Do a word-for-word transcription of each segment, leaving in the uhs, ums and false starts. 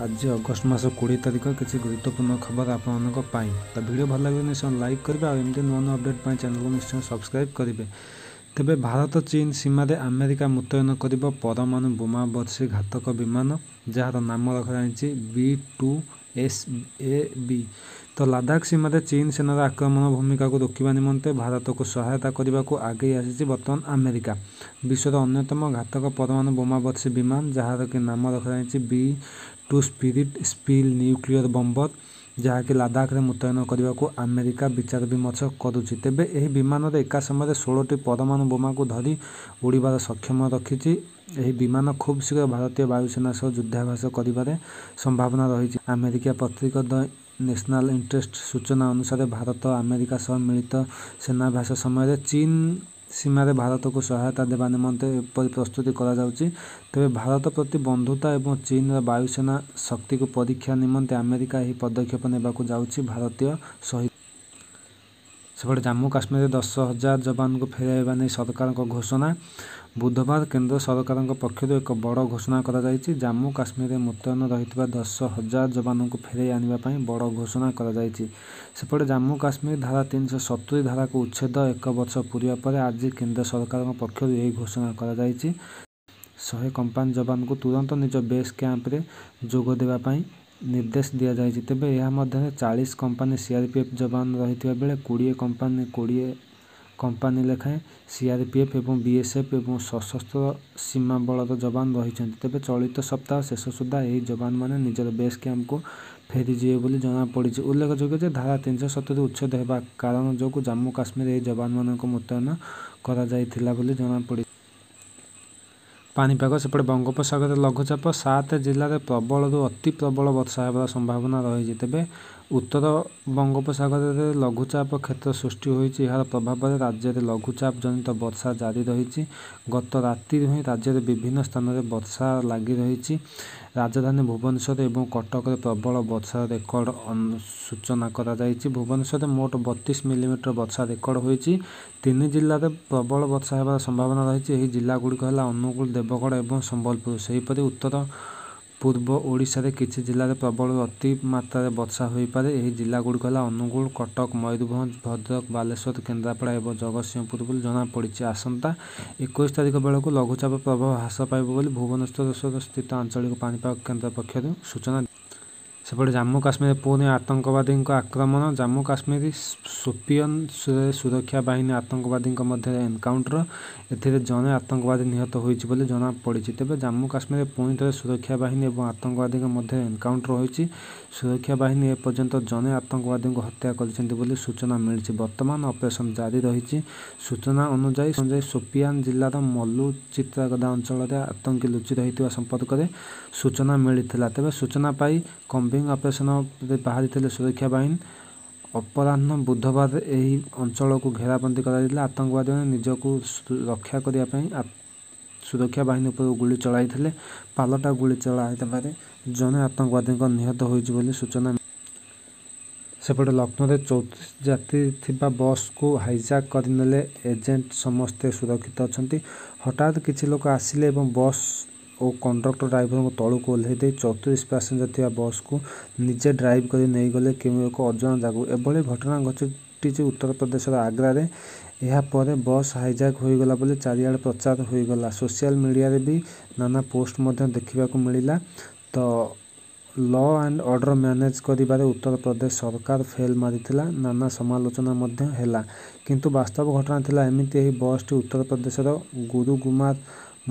ଆଜି ଅଗଷ୍ଟ ମାସ କୋଡ଼ିଏ ତାରିଖ କିଛି ଗୁରୁତ୍ୱପୂର୍ଣ୍ଣ ଖବର ଆପଣମାନଙ୍କ ପାଇଁ। ତ ଭିଡ଼ିଓ ଭଲ ଲାଗିଲେ ନିଶ୍ଚୟ ଲାଇକ୍ କରିବେ ଆଉ ଏମିତି ନୂଆ ନୂଆ ଅପଡ଼େଟ୍ ପାଇଁ ଚ୍ୟାନେଲକୁ ନିଶ୍ଚୟ ସବସ୍କ୍ରାଇବ୍ କରିବେ। ତେବେ ଭାରତ ଚୀନ ସୀମାରେ ଆମେରିକା ମୁତୟନ କରିବ ପରମାଣୁ ବୋମା ବର୍ଷୀ ଘାତକ ବିମାନ, ଯାହାର ନାମ ରଖାଯାଇଛି ବି ଟୁ ଏସ୍ ଏ ବି। ତ ଲାଦାଖ ସୀମାରେ ଚୀନ ସେନାର ଆକ୍ରମଣ ଭୂମିକାକୁ ରୋକିବା ନିମନ୍ତେ ଭାରତକୁ ସହାୟତା କରିବାକୁ ଆଗେଇ ଆସିଛି ବର୍ତ୍ତମାନ ଆମେରିକା। ବିଶ୍ୱର ଅନ୍ୟତମ ଘାତକ ପରମାଣୁ ବୋମା ବର୍ଷୀ ବିମାନ, ଯାହାର କି ନାମ ରଖାଯାଇଛି B two spirit spill nuclear bomber, ଯାହାକି ଲାଦାଖରେ ମୁତୟନ କରିବାକୁ ଆମେରିକା ବିଚାର ବିମର୍ଶ କରୁଛି। ତେବେ ଏହି ବିମାନରେ ଏକା ସମୟରେ ଷୋହଳଟି ପରମାଣୁ ବୋମାକୁ ଧରି ଉଡ଼ିବାର ସକ୍ଷମ ରଖିଛି। ଏହି ବିମାନ ଖୁବ୍ ଶୀଘ୍ର ଭାରତୀୟ ବାୟୁସେନା ସହ ଯୁଦ୍ଧାଭ୍ୟାସ କରିବାରେ ସମ୍ଭାବନା ରହିଛି। ଆମେରିକୀୟ ପତ୍ରିକା ଦ ନ୍ୟାସନାଲ ଇଣ୍ଟରେଷ୍ଟ ସୂଚନା ଅନୁସାରେ, ଭାରତ ଆମେରିକା ସହ ମିଳିତ ସେନାଭ୍ୟାସ ସମୟରେ ଚୀନ ସୀମାରେ ଭାରତକୁ ସହାୟତା ଦେବା ନିମନ୍ତେ ଏପରି ପ୍ରସ୍ତୁତି କରାଯାଉଛି। ତେବେ ଭାରତ ପ୍ରତି ବନ୍ଧୁତା ଏବଂ ଚୀନର ବାୟୁସେନା ଶକ୍ତିକୁ ପରୀକ୍ଷା ନିମନ୍ତେ ଆମେରିକା ଏହି ପଦକ୍ଷେପ ନେବାକୁ ଯାଉଛି ଭାରତୀୟ ସହିତ। ସେପଟେ ଜାମ୍ମୁ କାଶ୍ମୀରରେ ଦଶ ହଜାର ଯବାନଙ୍କୁ ଫେରାଇବା ନେଇ ସରକାରଙ୍କ ଘୋଷଣା। ବୁଧବାର କେନ୍ଦ୍ର ସରକାରଙ୍କ ପକ୍ଷରୁ ଏକ ବଡ଼ ଘୋଷଣା କରାଯାଇଛି। ଜାମ୍ମୁ କାଶ୍ମୀରରେ ମୁତୟନ ରହିଥିବା ଦଶ ହଜାର ଯବାନଙ୍କୁ ଫେରାଇ ଆଣିବା ପାଇଁ ବଡ଼ ଘୋଷଣା କରାଯାଇଛି। ସେପଟେ ଜାମ୍ମୁ କାଶ୍ମୀର ଧାରା ତିନିଶହ ସତୁରି ଧାରାକୁ ଉଚ୍ଛେଦ ଏକ ବର୍ଷ ପୂରିବା ପରେ ଆଜି କେନ୍ଦ୍ର ସରକାରଙ୍କ ପକ୍ଷରୁ ଏହି ଘୋଷଣା କରାଯାଇଛି। ଶହେ କମ୍ପାନୀ ଯବାନଙ୍କୁ ତୁରନ୍ତ ନିଜ ବେସ୍ କ୍ୟାମ୍ପରେ ଯୋଗ ଦେବା ପାଇଁ ନିର୍ଦ୍ଦେଶ ଦିଆଯାଇଛି। ତେବେ ଏହା ମଧ୍ୟରେ ଚାଳିଶ କମ୍ପାନୀ ସିଆରପିଏଫ୍ ଯବାନ ରହିଥିବା ବେଳେ କୋଡ଼ିଏ କମ୍ପାନୀ କୋଡ଼ିଏ କମ୍ପାନୀ ଲେଖାଏଁ ସିଆରପିଏଫ୍ ଏବଂ ବିଏସ୍ଏଫ୍ ଏବଂ ସଶସ୍ତ୍ର ସୀମା ବଳର ଯବାନ ରହିଛନ୍ତି। ତେବେ ଚଳିତ ସପ୍ତାହ ଶେଷ ସୁଦ୍ଧା ଏହି ଯବାନମାନେ ନିଜର ବେସ୍ କ୍ୟାମ୍ପକୁ ଫେରିଯିବେ ବୋଲି ଜଣାପଡ଼ିଛି। ଉଲ୍ଲେଖଯୋଗ୍ୟ ଯେ ଧାରା ତିନିଶହ ସତୁରି ଉଚ୍ଛେଦ ହେବା କାରଣ ଯୋଗୁଁ ଜାମ୍ମୁ କାଶ୍ମୀରରେ ଏହି ଯବାନମାନଙ୍କୁ ମୁତୟନ କରାଯାଇଥିଲା ବୋଲି ଜଣାପଡ଼ିଛି। ପାଣିପାଗ ସେପଟେ ବଙ୍ଗୋପସାଗରରେ ଲଘୁଚାପ, ସାତ ଜିଲ୍ଲାରେ ପ୍ରବଳରୁ ଅତି ପ୍ରବଳ ବର୍ଷା ହେବାର ସମ୍ଭାବନା ରହିଛି। ତେବେ ଉତ୍ତର ବଙ୍ଗୋପସାଗରରେ ଲଘୁଚାପ କ୍ଷେତ୍ର ସୃଷ୍ଟି ହୋଇଛି। ଏହାର ପ୍ରଭାବରେ ରାଜ୍ୟରେ ଲଘୁଚାପ ଜନିତ ବର୍ଷା ଜାରି ରହିଛି। ଗତ ରାତିରୁ ହିଁ ରାଜ୍ୟରେ ବିଭିନ୍ନ ସ୍ଥାନରେ ବର୍ଷା ଲାଗି ରହିଛି। ରାଜଧାନୀ ଭୁବନେଶ୍ୱର ଏବଂ କଟକରେ ପ୍ରବଳ ବର୍ଷାର ରେକର୍ଡ ସୂଚନା କରାଯାଇଛି। ଭୁବନେଶ୍ୱରରେ ମୋଟ ବତିଶ ମିଲିମିଟର ବର୍ଷା ରେକର୍ଡ ହୋଇଛି। ତିନି ଜିଲ୍ଲାରେ ପ୍ରବଳ ବର୍ଷା ହେବାର ସମ୍ଭାବନା ରହିଛି। ଏହି ଜିଲ୍ଲାଗୁଡ଼ିକ ହେଲା ଅନୁଗୁଳ, ଦେବଗଡ଼ ଏବଂ ସମ୍ବଲପୁର। ସେହିପରି ଉତ୍ତର ପୂର୍ବ ଓଡ଼ିଶାରେ କିଛି ଜିଲ୍ଲାରେ ପ୍ରବଳରୁ ଅତି ମାତ୍ରାରେ ବର୍ଷା ହୋଇପାରେ। ଏହି ଜିଲ୍ଲାଗୁଡ଼ିକ ହେଲା ଅନୁଗୁଳ, କଟକ, ମୟୂରଭଞ୍ଜ, ଭଦ୍ରକ, ବାଲେଶ୍ୱର, କେନ୍ଦ୍ରାପଡ଼ା ଏବଂ ଜଗତସିଂହପୁର ବୋଲି ଜଣାପଡ଼ିଛି। ଆସନ୍ତା ଏକୋଇଶ ତାରିଖ ବେଳକୁ ଲଘୁଚାପ ପ୍ରଭାବ ହ୍ରାସ ପାଇବ ବୋଲି ଭୁବନେଶ୍ୱର ସ୍ଥିତ ଆଞ୍ଚଳିକ ପାଣିପାଗ କେନ୍ଦ୍ର ପକ୍ଷରୁ ସୂଚନା। ସେପଟେ ଜାମ୍ମୁ କାଶ୍ମୀରରେ ପୁଣି ଆତଙ୍କବାଦୀଙ୍କ ଆକ୍ରମଣ। ଜାମ୍ମୁ କାଶ୍ମୀର ସୋପିଆନରେ ସୁରକ୍ଷା ବାହିନୀ ଆତଙ୍କବାଦୀଙ୍କ ମଧ୍ୟରେ ଏନକାଉଣ୍ଟର। ଏଥିରେ ଜଣେ ଆତଙ୍କବାଦୀ ନିହତ ହୋଇଛି ବୋଲି ଜଣାପଡ଼ିଛି। ତେବେ ଜାମ୍ମୁ କାଶ୍ମୀରରେ ପୁଣି ଥରେ ସୁରକ୍ଷା ବାହିନୀ ଏବଂ ଆତଙ୍କବାଦୀଙ୍କ ମଧ୍ୟରେ ଏନକାଉଣ୍ଟର ହୋଇଛି। ସୁରକ୍ଷା ବାହିନୀ ଏପର୍ଯ୍ୟନ୍ତ ଜଣେ ଆତଙ୍କବାଦୀଙ୍କୁ ହତ୍ୟା କରିଛନ୍ତି ବୋଲି ସୂଚନା ମିଳିଛି। ବର୍ତ୍ତମାନ ଅପରେସନ ଜାରି ରହିଛି। ସୂଚନା ଅନୁଯାୟୀ, ସୋପିଆନ ଜିଲ୍ଲାର ମଲ୍ଲୁ ଚିତ୍ରାଗଦା ଅଞ୍ଚଳରେ ଆତଙ୍କୀ ଲୁଚି ରହିଥିବା ସମ୍ପର୍କରେ ସୂଚନା ମିଳିଥିଲା। ତେବେ ସୂଚନା ପାଇ କମ୍ବିଂ ଅପରେସନରେ ବାହାରିଥିଲେ ସୁରକ୍ଷା ବାହିନୀ। ଅପରାହ୍ନ ବୁଧବାର ଏହି ଅଞ୍ଚଳକୁ ଘେରାବନ୍ଦୀ କରାଯାଇଥିଲା। ଆତଙ୍କବାଦୀମାନେ ନିଜକୁ ରକ୍ଷା କରିବା ପାଇଁ ସୁରକ୍ଷା ବାହିନୀ ଉପରକୁ ଗୁଳି ଚଳାଇଥିଲେ। ପାଲଟା ଗୁଳି ଚଳାଇଦେବାରେ ଜଣେ ଆତଙ୍କବାଦୀଙ୍କ ନିହତ ହୋଇଛି ବୋଲି ସୂଚନା। ସେପଟେ ଲକ୍ଷ୍ନୌରେ ଚଉତିରିଶ ଯାତ୍ରୀ ଥିବା ବସ୍କୁ ହାଇଜାକ୍ କରିନେଲେ ଏଜେଣ୍ଟ, ସମସ୍ତେ ସୁରକ୍ଷିତ ଅଛନ୍ତି। ହଠାତ୍ କିଛି ଲୋକ ଆସିଲେ ଏବଂ ବସ୍ ଓ କଣ୍ଡକ୍ଟର ଡ୍ରାଇଭରଙ୍କୁ ତଳକୁ ଓହ୍ଲାଇ ଦେଇ ଚଉତିରିଶ ପାସେଞ୍ଜର ଥିବା ବସ୍କୁ ନିଜେ ଡ୍ରାଇଭ୍ କରି ନେଇଗଲେ କେଉଁ ଏକ ଅଜଣା ଜାଗାକୁ। ଏଭଳି ଘଟଣା ଘଟିଛି ଉତ୍ତରପ୍ରଦେଶର ଆଗ୍ରାରେ। ଏହାପରେ ବସ୍ ହାଇଜାକ୍ ହୋଇଗଲା ବୋଲି ଚାରିଆଡ଼େ ପ୍ରଚାର ହୋଇଗଲା। ସୋସିଆଲ ମିଡିଆରେ ବି ନାନା ପୋଷ୍ଟ ମଧ୍ୟ ଦେଖିବାକୁ ମିଳିଲା। ତ ଲ ଆଣ୍ଡ ଅର୍ଡର ମ୍ୟାନେଜ କରିବାରେ ଉତ୍ତରପ୍ରଦେଶ ସରକାର ଫେଲ୍ ମାରିଥିଲା, ନାନା ସମାଲୋଚନା ମଧ୍ୟ ହେଲା। କିନ୍ତୁ ବାସ୍ତବ ଘଟଣା ଥିଲା ଏମିତି। ଏହି ବସ୍ଟି ଉତ୍ତରପ୍ରଦେଶର ଗୁରୁଗ୍ରାମରୁ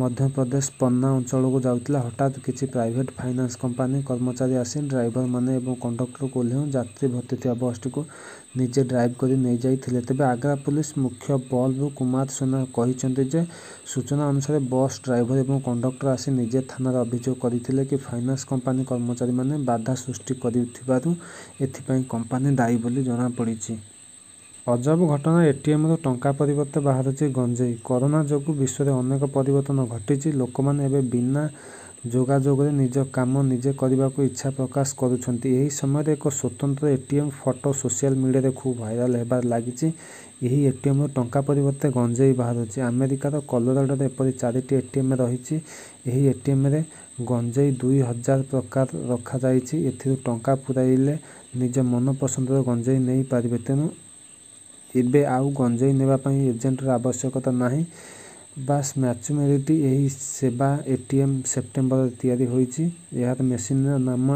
ମଧ୍ୟପ୍ରଦେଶ ପନ୍ନା ଅଞ୍ଚଳକୁ ଯାଉଥିଲା। ହଠାତ୍ କିଛି ପ୍ରାଇଭେଟ୍ ଫାଇନାନ୍ସ କମ୍ପାନୀ କର୍ମଚାରୀ ଆସି ଡ୍ରାଇଭରମାନେ ଏବଂ କଣ୍ଡକ୍ଟରଙ୍କୁ ଓହ୍ଲାଇ ଯାତ୍ରୀ ଭର୍ତ୍ତି ଥିବା ବସ୍ଟିକୁ ନିଜେ ଡ୍ରାଇଭ୍ କରି ନେଇଯାଇଥିଲେ। ତେବେ ଆଗ୍ରା ପୁଲିସ ମୁଖ୍ୟ ବଲରାମ କୁମାର ସେନା କହିଛନ୍ତି ଯେ ସୂଚନା ଅନୁସାରେ, ବସ୍ ଡ୍ରାଇଭର ଏବଂ କଣ୍ଡକ୍ଟର ଆସି ନିଜେ ଥାନାରେ ଅଭିଯୋଗ କରିଥିଲେ କି ଫାଇନାନ୍ସ କମ୍ପାନୀ କର୍ମଚାରୀମାନେ ବାଧା ସୃଷ୍ଟି କରିଥିବାରୁ ଏଥିପାଇଁ କମ୍ପାନୀ ଦାୟୀ ବୋଲି ଜଣାପଡ଼ିଛି। ଅଜବ ଘଟଣା, ଏଟିଏମରୁ ଟଙ୍କା ପରିବର୍ତ୍ତେ ବାହାରୁଛି ଗଞ୍ଜେଇ। କରୋନା ଯୋଗୁଁ ବିଶ୍ୱରେ ଅନେକ ପରିବର୍ତ୍ତନ ଘଟିଛି। ଲୋକମାନେ ଏବେ ବିନା ଯୋଗାଯୋଗରେ ନିଜ କାମ ନିଜେ କରିବାକୁ ଇଚ୍ଛା ପ୍ରକାଶ କରୁଛନ୍ତି। ଏହି ସମୟରେ ଏକ ସ୍ୱତନ୍ତ୍ର ଏଟିଏମ ଫଟୋ ସୋସିଆଲ ମିଡିଆରେ ଖୁବ ଭାଇରାଲ ହେବାରେ ଲାଗିଛି। ଏହି ଏଟିଏମରୁ ଟଙ୍କା ପରିବର୍ତ୍ତେ ଗଞ୍ଜେଇ ବାହାରୁଛି। ଆମେରିକାର କଲୋରାଡୋରେ ଏପରି ଚାରିଟି ଏଟିଏମ ରହିଛି। ଏହି ଏଟିଏମରେ ଗଞ୍ଜେଇ ଦୁଇ ହଜାର ପ୍ରକାର ରଖାଯାଇଛି। ଏଥିରୁ ଟଙ୍କା ପୁରାଇଲେ ନିଜ ମନ ପସନ୍ଦର ଗଞ୍ଜେଇ ନେଇ ପାରିବେ। ତେଣୁ ଏବେ ଆଉ ଗଞ୍ଜେଇ ନେବା ପାଇଁ ଏଜେଣ୍ଟର ଆବଶ୍ୟକତା ନାହିଁ। ବାସ୍ ମ୍ୟାଚୁରିଟି ଏହି ସେବା ଏଟିଏମ୍ ସେପ୍ଟେମ୍ବରରେ ତିଆରି ହୋଇଛି। ଏହାର ମେସିନର ନାମ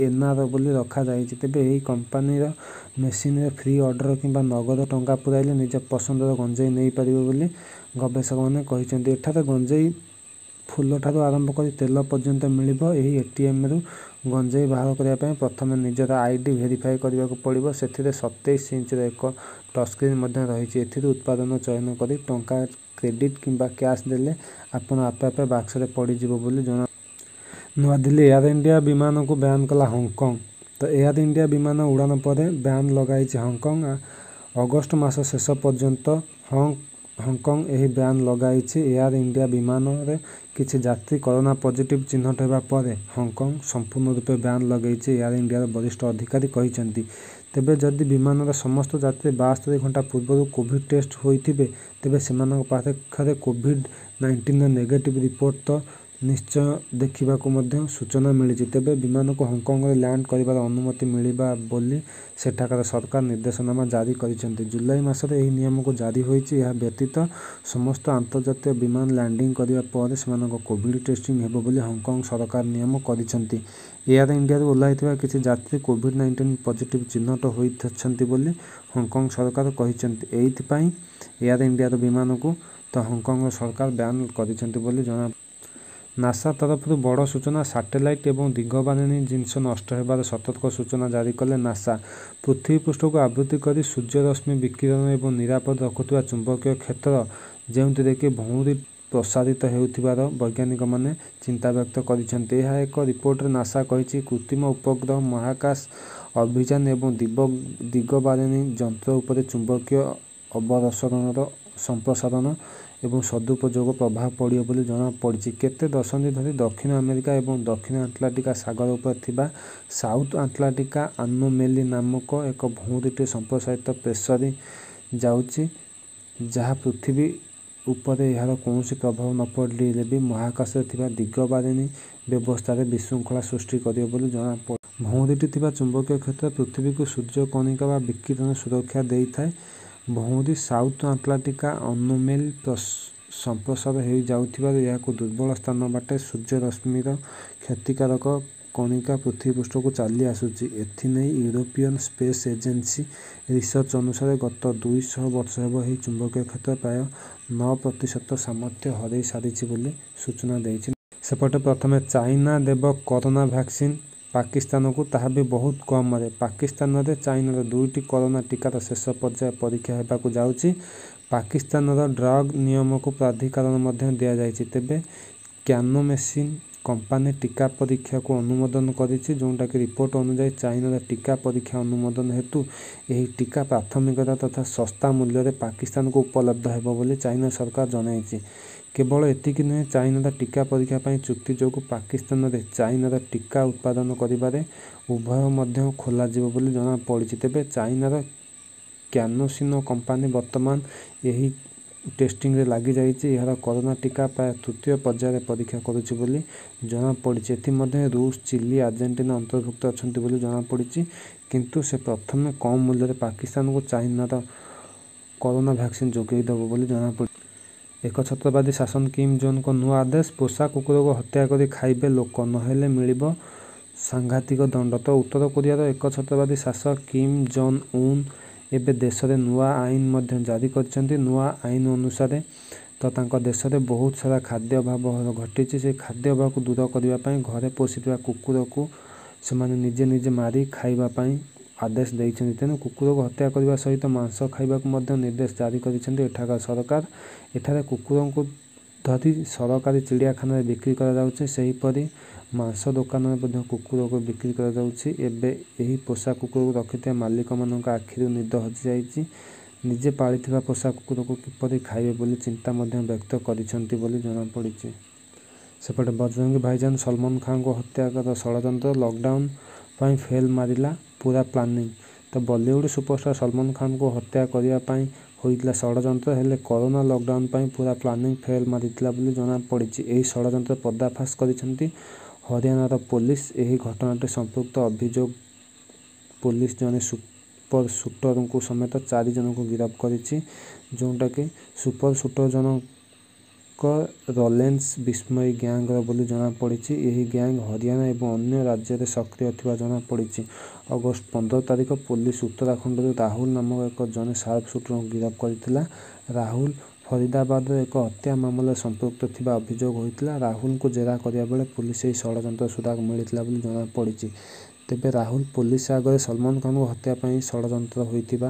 ଏନାର ବୋଲି ରଖାଯାଇଛି। ତେବେ ଏହି କମ୍ପାନୀର ମେସିନରେ ଫ୍ରି ଅର୍ଡର କିମ୍ବା ନଗଦ ଟଙ୍କା ପୁରାଇଲେ ନିଜ ପସନ୍ଦର ଗଞ୍ଜେଇ ନେଇପାରିବେ ବୋଲି ଗବେଷକମାନେ କହିଛନ୍ତି। ଏଠାରେ ଗଞ୍ଜେଇ ଫୁଲଠାରୁ ଆରମ୍ଭ କରି ତେଲ ପର୍ଯ୍ୟନ୍ତ ମିଳିବ। ଏହି ଏଟିଏମରୁ ଗଞ୍ଜେଇ ବାହାର କରିବା ପାଇଁ ପ୍ରଥମେ ନିଜର ଆଇଡି ଭେରିଫାଇ କରିବାକୁ ପଡ଼ିବ। ସେଥିରେ ସତେଇଶ ଇଞ୍ଚର ଏକ ଟଚସ୍କ୍ରିନ ମଧ୍ୟ ରହିଛି। ଏଥିରୁ ଉତ୍ପାଦ ଚୟନ କରି ଟଙ୍କା କ୍ରେଡିଟ କିମ୍ବା କ୍ୟାସ ଦେଲେ ଆପଣ ଆପେ ଆପେ ବାକ୍ସରେ ପଡ଼ିଯିବ ବୋଲି ଜଣା। ନୂଆଦିଲ୍ଲୀ, ଏୟାର ଇଣ୍ଡିଆ ବିମାନକୁ ବ୍ୟାନ୍ କଲା ହଂକଂ। ତ ଏୟାର ଇଣ୍ଡିଆ ବିମାନ ଉଡ଼ାଣ ପରେ ବ୍ୟାନ୍ ଲଗାଇଛି ହଂକଂ। ଅଗଷ୍ଟ ମାସ ଶେଷ ପର୍ଯ୍ୟନ୍ତ ହଂକଂ ଏହି ବ୍ୟାନ୍ ଲଗାଇଛି। ଏୟାର ଇଣ୍ଡିଆ ବିମାନରେ କିଛି ଯାତ୍ରୀ କରୋନା ପଜିଟିଭ ଚିହ୍ନଟ ହେବା ପରେ ହଂକଂ ସମ୍ପୂର୍ଣ୍ଣ ରୂପେ ବ୍ୟାନ୍ ଲଗାଇଛି ଏୟାର ଇଣ୍ଡିଆର ବରିଷ୍ଠ ଅଧିକାରୀ କହିଛନ୍ତି। ତେବେ ଯଦି ବିମାନର ସମସ୍ତ ଯାତ୍ରୀ ବାସ୍ତରି ଘଣ୍ଟା ପୂର୍ବରୁ କୋଭିଡ ଟେଷ୍ଟ ହୋଇଥିବେ ତେବେ ସେମାନଙ୍କ ପାଖରେ କୋଭିଡ ନାଇଣ୍ଟିନର ନେଗେଟିଭ ରିପୋର୍ଟ ତ ନିଶ୍ଚୟ ଦେଖିବାକୁ ମଧ୍ୟ ସୂଚନା ମିଳିଛି। ତେବେ ବିମାନକୁ ହଂକଂରେ ଲ୍ୟାଣ୍ଡ କରିବାର ଅନୁମତି ମିଳିବା ବୋଲି ସେଠାକାର ସରକାର ନିର୍ଦ୍ଦେଶନାମା ଜାରି କରିଛନ୍ତି। ଜୁଲାଇ ମାସରେ ଏହି ନିୟମକୁ ଜାରି ହୋଇଛି। ଏହା ବ୍ୟତୀତ ସମସ୍ତ ଆନ୍ତର୍ଜାତୀୟ ବିମାନ ଲ୍ୟାଣ୍ଡିଂ କରିବା ପରେ ସେମାନଙ୍କ କୋଭିଡ ଟେଷ୍ଟିଂ ହେବ ବୋଲି ହଂକଂ ସରକାର ନିୟମ କରିଛନ୍ତି। ଏୟାର ଇଣ୍ଡିଆରୁ ଓହ୍ଲାଇଥିବା କିଛି ଯାତ୍ରୀ କୋଭିଡ ନାଇଣ୍ଟିନ ପଜିଟିଭ ଚିହ୍ନଟ ହୋଇଛନ୍ତି ବୋଲି ହଂକଂ ସରକାର କହିଛନ୍ତି। ଏଇଥିପାଇଁ ଏୟାର ଇଣ୍ଡିଆର ବିମାନକୁ ତ ହଂକଂର ସରକାର ବ୍ୟାନ୍ କରିଛନ୍ତି ବୋଲି ଜଣା। ନାସା ତରଫରୁ ବଡ଼ ସୂଚନା। ସାଟେଲାଇଟ ଏବଂ ଦିଗବାରେଣୀ ଜିନିଷ ନଷ୍ଟ ହେବାର ସତର୍କ ସୂଚନା ଜାରି କଲେ ନାସା। ପୃଥିବୀ ପୃଷ୍ଠକୁ ଆବୃତ କରି ସୂର୍ଯ୍ୟରଶ୍ମି ବିକିରଣ ଏବଂ ନିରାପଦ ରଖୁଥିବା ଚୁମ୍ବକୀୟ କ୍ଷେତ୍ର, ଯେଉଁଥିରେ କି ଭଉଁରୀ ପ୍ରସାରିତ ହେଉଥିବାର ବୈଜ୍ଞାନିକମାନେ ଚିନ୍ତାବ୍ୟକ୍ତ କରିଛନ୍ତି। ଏହା ଏକ ରିପୋର୍ଟରେ ନାସା କହିଛି, କୃତ୍ରିମ ଉପଗ୍ରହ, ମହାକାଶ ଅଭିଯାନ ଏବଂ ଦିଗବାରେଣୀ ଯନ୍ତ୍ର ଉପରେ ଚୁମ୍ବକୀୟ ଅପରସରଣର ସମ୍ପ୍ରସାରଣ ଏବଂ ସଦୁପଯୋଗ ପ୍ରଭାବ ପଡ଼ିବ ବୋଲି ଜଣାପଡ଼ିଛି। କେତେ ଦଶନ୍ଧି ଧରି ଦକ୍ଷିଣ ଆମେରିକା ଏବଂ ଦକ୍ଷିଣ ଆଟଲାଣ୍ଟିକ ସାଗର ଉପରେ ଥିବା ସାଉଥ ଆଟଲାଣ୍ଟିକ ଆନୋମେଲି ନାମକ ଏକ ଭଉଁରୀଟି ସମ୍ପ୍ରସାରିତ ପ୍ରେସରି ଯାଉଛି, ଯାହା ପୃଥିବୀ ଉପରେ ଏହାର କୌଣସି ପ୍ରଭାବ ନ ପଡ଼ିଲେ ବି ମହାକାଶରେ ଥିବା ଦିଗବାରେଣୀ ବ୍ୟବସ୍ଥାରେ ବିଶୃଙ୍ଖଳା ସୃଷ୍ଟି କରିବ ବୋଲି ଜଣାପଡ଼ିଛି। ଭଉଁରୀଟି ଥିବା ଚୁମ୍ବକୀୟ କ୍ଷେତ୍ର ପୃଥିବୀକୁ ସୂର୍ଯ୍ୟ କଣିକା ବା ବିକିରଣରୁ ସୁରକ୍ଷା ଦେଇଥାଏ। ଭଉଁରୀ ସାଉଥ ଆଟଲାଣ୍ଟିକ ଆନୋମେଲି ସମ୍ପ୍ରସାର ହୋଇଯାଉଥିବାରୁ ଏହାକୁ ଦୁର୍ବଳ ସ୍ଥାନ ବାଟେ ସୂର୍ଯ୍ୟରଶ୍ମିର କ୍ଷତିକାରକ କଣିକା ପୃଥିବୀ ପୃଷ୍ଠକୁ ଚାଲି ଆସୁଛି। ଏଥିନେଇ ୟୁରୋପିୟନ ସ୍ପେସ ଏଜେନ୍ସି ରିସର୍ଚ୍ଚ ଅନୁସାରେ ଗତ ଦୁଇ ଶହ ବର୍ଷ ହେବ ଏହି ଚୁମ୍ବକୀୟ କ୍ଷେତ୍ର ପ୍ରାୟ ନଅ ପ୍ରତିଶତ ସାମର୍ଥ୍ୟ ହରାଇ ସାରିଛି ବୋଲି ସୂଚନା ଦେଇଛି। ସେପଟେ ପ୍ରଥମେ ଚାଇନା ଦେବ କରୋନା ଭ୍ୟାକ୍ସିନ ପାକିସ୍ତାନକୁ, ତାହା ବି ବହୁତ କମରେ। ପାକିସ୍ତାନରେ ଚାଇନାର ଦୁଇଟି କରୋନା ଟିକାର ଶେଷ ପର୍ଯ୍ୟାୟ ପରୀକ୍ଷା ହେବାକୁ ଯାଉଛି। ପାକିସ୍ତାନର ଡ୍ରଗ ନିୟାମକ ପ୍ରାଧିକରଣ ମଧ୍ୟ ଦିଆଯାଇଛି। ତେବେ କ୍ୟାନୋସିନୋ କମ୍ପାନୀ ଟିକା ପରୀକ୍ଷାକୁ ଅନୁମୋଦନ କରିଛି। ଯେଉଁଟାକି ରିପୋର୍ଟ ଅନୁଯାୟୀ ଚାଇନାର ଟିକା ପରୀକ୍ଷା ଅନୁମୋଦନ ହେତୁ ଏହି ଟିକା ପ୍ରାଥମିକତା ତଥା ଶସ୍ତା ମୂଲ୍ୟରେ ପାକିସ୍ତାନକୁ ଉପଲବ୍ଧ ହେବ ବୋଲି ଚାଇନା ସରକାର ଜଣାଇଛି। କେବଳ ଏତିକି ନୁହେଁ, ଚାଇନାର ଟିକା ପରୀକ୍ଷା ପାଇଁ ଚୁକ୍ତି ଯୋଗୁଁ ପାକିସ୍ତାନରେ ଚାଇନାର ଟିକା ଉତ୍ପାଦନ କରିବାରେ ଉପାୟ ମଧ୍ୟ ଖୋଲାଯିବ ବୋଲି ଜଣାପଡ଼ିଛି। ତେବେ ଚାଇନାର କ୍ୟାନୋସିନୋ କମ୍ପାନୀ ବର୍ତ୍ତମାନ ଏହି ଟେଷ୍ଟିଂରେ ଲାଗିଯାଇଛି। ଏହାର କରୋନା ଟିକା ପ୍ରାୟ ତୃତୀୟ ପର୍ଯ୍ୟାୟରେ ପରୀକ୍ଷା କରୁଛି ବୋଲି ଜଣାପଡ଼ିଛି। ଏଥିମଧ୍ୟରେ ରୁଷ, ଚିଲି, ଆର୍ଜେଣ୍ଟିନା ଅନ୍ତର୍ଭୁକ୍ତ ଅଛନ୍ତି ବୋଲି ଜଣାପଡ଼ିଛି। କିନ୍ତୁ ସେ ପ୍ରଥମେ କମ୍ ମୂଲ୍ୟରେ ପାକିସ୍ତାନକୁ ଚାଇନାର କରୋନା ଭ୍ୟାକ୍ସିନ ଯୋଗାଇ ଦେବ ବୋଲି ଜଣାପଡ଼ିଛି। ଏକଛତ୍ରବାଦୀ ଶାସକ କିମ୍ ଜୋଙ୍ଗଙ୍କ ନୂଆ ଆଦେଶ, ପୋଷା କୁକୁରକୁ ହତ୍ୟା କରି ଖାଇବେ ଲୋକ, ନହେଲେ ମିଳିବ ସାଂଘାତିକ ଦଣ୍ଡ। ତ ଉତ୍ତର କୋରିଆର ଏକଛତ୍ରବାଦୀ ଶାସକ କିମ୍ ଜୋଙ୍ଗ ଉନ୍ ଏବେ ଦେଶରେ ନୂଆ ଆଇନ ମଧ୍ୟ ଜାରି କରିଛନ୍ତି। ନୂଆ ଆଇନ ଅନୁସାରେ ତ ତାଙ୍କ ଦେଶରେ ବହୁତ ସାରା ଖାଦ୍ୟ ଅଭାବ ଘଟିଛି। ସେ ଖାଦ୍ୟ ଅଭାବକୁ ଦୂର କରିବା ପାଇଁ ଘରେ ପୋଷିଥିବା କୁକୁରକୁ ସେମାନେ ନିଜେ ନିଜେ ମାରି ଖାଇବା ପାଇଁ ଆଦେଶ ଦେଇଛନ୍ତି। ତେଣୁ କୁକୁରକୁ ହତ୍ୟା କରିବା ସହିତ ମାଂସ ଖାଇବାକୁ ମଧ୍ୟ ନିର୍ଦ୍ଦେଶ ଜାରି କରିଛନ୍ତି ଏଠାକାର ସରକାର। ଏଠାରେ କୁକୁରଙ୍କୁ ଧରି ସରକାରୀ ଚିଡ଼ିଆଖାନାରେ ବିକ୍ରି କରାଯାଉଛି। ସେହିପରି ମାଂସ ଦୋକାନରେ ମଧ୍ୟ କୁକୁରକୁ ବିକ୍ରି କରାଯାଉଛି। ଏବେ ଏହି ପୋଷା କୁକୁରକୁ ରଖିଥିବା ମାଲିକମାନଙ୍କ ଆଖିରୁ ନିଦ ହଜିଯାଇଛି। ନିଜେ ପାଳିଥିବା ପୋଷା କୁକୁରକୁ କିପରି ଖାଇବେ ବୋଲି ଚିନ୍ତା ମଧ୍ୟ ବ୍ୟକ୍ତ କରିଛନ୍ତି ବୋଲି ଜଣାପଡ଼ିଛି। ସେପଟେ ବଜରଙ୍ଗୀ ଭାଇଜାନ ସଲମାନ ଖାନଙ୍କୁ ହତ୍ୟାର ଷଡ଼ଯନ୍ତ୍ର, ଲକଡାଉନ ପାଇଁ ଫେଲ୍ ମାରିଲା ପୁରା ପ୍ଲାନିଂ। ତ ବଲିଉଡ ସୁପରଷ୍ଟାର ସଲମାନ ଖାନଙ୍କୁ ହତ୍ୟା କରିବା ପାଇଁ ହୋଇଥିଲା ଷଡ଼ଯନ୍ତ୍ର। ହେଲେ କରୋନା ଲକଡାଉନ ପାଇଁ ପୁରା ପ୍ଲାନିଂ ଫେଲ୍ ମାରିଥିଲା ବୋଲି ଜଣାପଡ଼ିଛି। ଏହି ଷଡ଼ଯନ୍ତ୍ର ପର୍ଦ୍ଦାଫାଶ କରିଛନ୍ତି ହରିୟାଣାର ପୋଲିସ। ଏହି ଘଟଣାରେ ସମ୍ପୃକ୍ତ ଅଭିଯୋଗ ପୋଲିସ ଜଣେ ସୁପର ସୁଟରଙ୍କୁ ସମେତ ଚାରି ଜଣଙ୍କୁ ଗିରଫ କରିଛି। ଯେଉଁଟାକି ସୁପର ସୁଟର ଜଣକ ରଲେନ୍ସ ବିଷ୍ଣୋଇ ଗ୍ୟାଙ୍ଗର ବୋଲି ଜଣାପଡ଼ିଛି। ଏହି ଗ୍ୟାଙ୍ଗ ହରିୟାଣା ଏବଂ ଅନ୍ୟ ରାଜ୍ୟରେ ସକ୍ରିୟ ଥିବା ଜଣାପଡ଼ିଛି। ଅଗଷ୍ଟ ପନ୍ଦର ତାରିଖ ପୋଲିସ ଉତ୍ତରାଖଣ୍ଡରୁ ରାହୁଲ ନାମକ ଏକ ଜଣେ ସାର୍ପ ସୁଟରଙ୍କୁ ଗିରଫ କରିଥିଲା। ରାହୁଲ ଫରିଦାବାଦର ଏକ ହତ୍ୟା ମାମଲାରେ ସମ୍ପୃକ୍ତ ଥିବା ଅଭିଯୋଗ ହୋଇଥିଲା। ରାହୁଲଙ୍କୁ ଜେରା କରିବା ବେଳେ ପୋଲିସ ଏହି ଷଡ଼ଯନ୍ତ୍ର ସୁରାଗ ମିଳିଥିଲା ବୋଲି ଜଣାପଡ଼ିଛି। ତେବେ ରାହୁଲ ପୋଲିସ ଆଗରେ ସଲମାନ ଖାନଙ୍କୁ ହତ୍ୟା ପାଇଁ ଷଡ଼ଯନ୍ତ୍ର ହୋଇଥିବା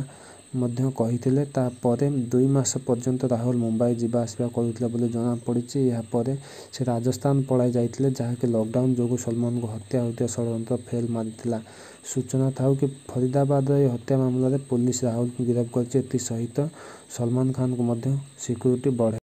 ମଧ୍ୟ କହିଥିଲେ। ତାପରେ ଦୁଇ ମାସ ପର୍ଯ୍ୟନ୍ତ ରାହୁଲ ମୁମ୍ବାଇ ଯିବା ଆସିବା କରୁଥିଲେ ବୋଲି ଜଣାପଡ଼ିଛି। ଏହାପରେ ସେ ରାଜସ୍ଥାନ ପଳାଇ ଯାଇଥିଲେ, ଯାହାକି ଲକଡାଉନ ଯୋଗୁଁ ସଲମାନଙ୍କୁ ହତ୍ୟା ହୋଇଥିବା ଷଡ଼ଯନ୍ତ୍ର ଫେଲ୍ ମାରିଥିଲା। ସୂଚନା ଥାଉ କି ଫରିଦାବାଦର ଏହି ହତ୍ୟା ମାମଲାରେ ପୋଲିସ ରାହୁଲଙ୍କୁ ଗିରଫ କରିଛି। ଏଥିସହିତ ସଲମାନ ଖାନଙ୍କୁ ମଧ୍ୟ ସିକ୍ୟୁରିଟି ବଢ଼ାଇ